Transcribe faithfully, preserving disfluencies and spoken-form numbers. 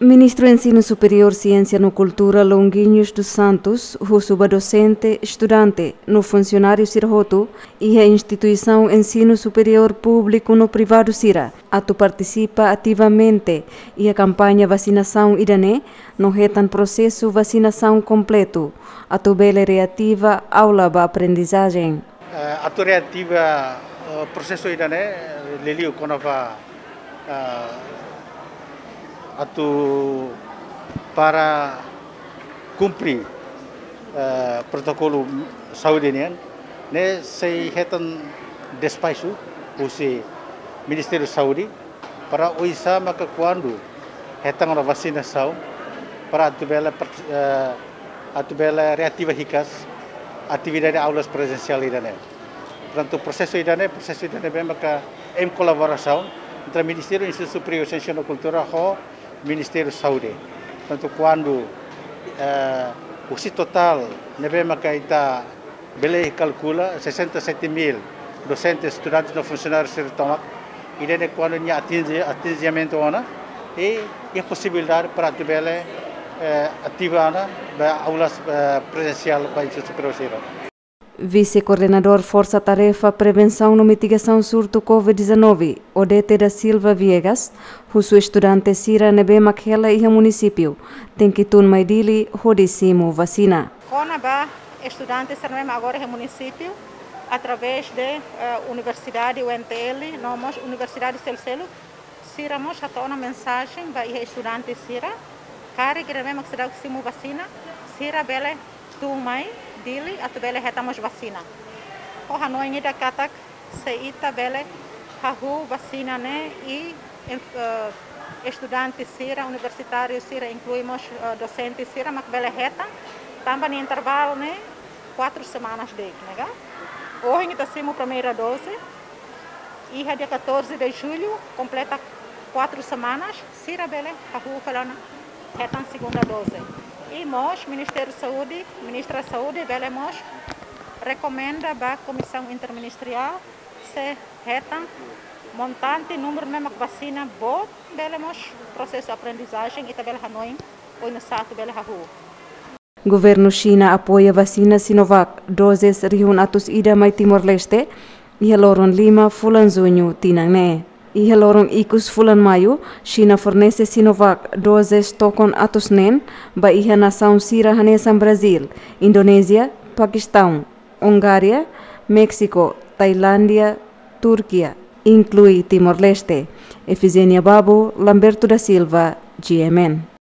Ministru Ensinu Superiór, Siénsia no Kultura, Longuinhos dos Santos, husu ba dosente, estudante no funsionáriu sira hotu iha instituisaun ensinu superiór públiku no privadu sira atu partisipa ativamente iha kampaña vasinasaun ida-ne'e no hetan prosesu vasinasaun kompletu atu bele reativa aula ba aprendizajen. Eh, atu reativa, eh, prosesu ida-ne'e, liuliu kona-ba, eh, atu para kumpre, eh, protokolu saúde nian, ne'e sei hetan despaxu husi Ministériu Saúde, para oinsá maka kuandu hetan ona vasinasaun, para atu bele part-, eh, atu bele reativa hikas atividade aulas prezensiál ida-ne'e. Portantu, prosesu ida-ne'e, prosesu ida-ne'e ne'ebé maka em kolaborasaun entre Ministériu Ensinu Superiór, Siénsia no Kultura ho Ministériu Saúde. Portantu, kuandu, eh, husi totál ne'ebé maka ita bele kalkula, sessenta e sete mil docentes, estudantes no funsionáriu sira tomak, ida-ne'e kuandu nia atinje, atinjimentu ona, i, i posibilidade para atu bele, eh, ativa ona ba aulas, eh, prezensiál ba ensinu superiór sira. Vise-Koordenadór Forsa Tarefa Prevensaun no Mitigasaun Surtu covid dezanove, Odete da Silva Viegas, husu estudante sira ne'ebé mak hela iha munisípiu, tenke tun mai Dili hodi simu vasina. Kona-ba estudante sira ne'ebé mak agora iha munisípiu, através de, eh, Universidade U N T L, no mós universidade seluk-seluk, sira mós hato'o ona mensajen ba iha estudante sira, karik ida-ne'ebé mak seidauk simu vasina, sira bele tun mai Dili atu bele hetan mós vasina. Ho hanoin ida katak, se ita bele hahú vasina ne'e i, em, eh, estudante sira, universitáriu sira, inklui mós, eh, dosente sira, mak bele hetan, tanba nia intervalu ne'e kuatru semanas de'it, ne'e ka? Ohin ita simu primeira dose, iha dia catorze de julho, kompleta kuatru semanas, sira bele hahú fali ona hetan segunda dose. I mós Ministériu Saúde, Ministra Saúde bele mós rekomenda ba Komisaun Interministeriál, se hetan montante, númeru ne'ebé mak vasina boot, bele mós prosesu aprendizajen, ita bele hanoin oinsá atu bele hahú. Governu Xina apoia vasina Sinovac doses rihun atus ida mai Timor-Leste iha loron lima fulan Juñu tinan ne'e. Iha loron ikus fulan Maiu, Xina fornese Sinovac doses tokon atus neen ba iha nasaun sira hanesan Brazíl, Indonézia, Pakistaun, Hungária, Méxiku, Tailándia, Turkia, inklui Timor-Leste. Efigénia Babo, Lamberto da Silva, G M N.